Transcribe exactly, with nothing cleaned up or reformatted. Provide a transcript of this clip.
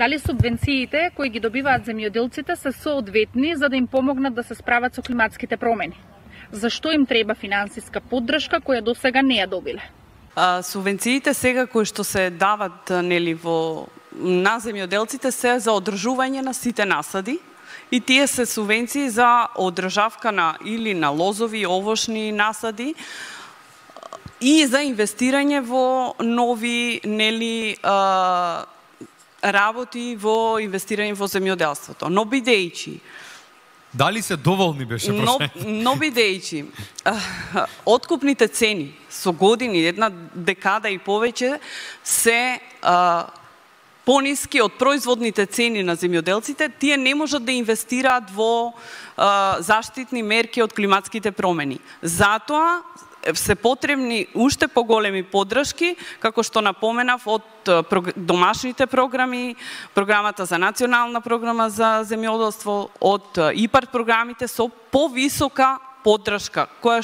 Дали субвенциите кои ги добиваат земјоделците се соодветни за да им помогнат да се справат со климатските промени? Зашто им треба финансиска поддршка која досега не ја добиле? А, субвенциите сега кои што се дават нели во на земјоделците се за одржување на сите насади и тие се субвенции за одржавка на или на лозови, овошни насади и за инвестирање во нови нели а, работи во инвестирање во земјоделството. Но бидејќи дали се доволни беше но, но бидејќи откупните цени со години, една декада и повеќе се а, пониски од производните цени на земјоделците, тие не можат да инвестираат во а, заштитни мерки од климатските промени. Затоа се потребни уште поголеми поддршки, како што напоменав, од домашните програми, програмата за национална програма за земјоделство, од ИПАРД програмите со повисока поддршка, која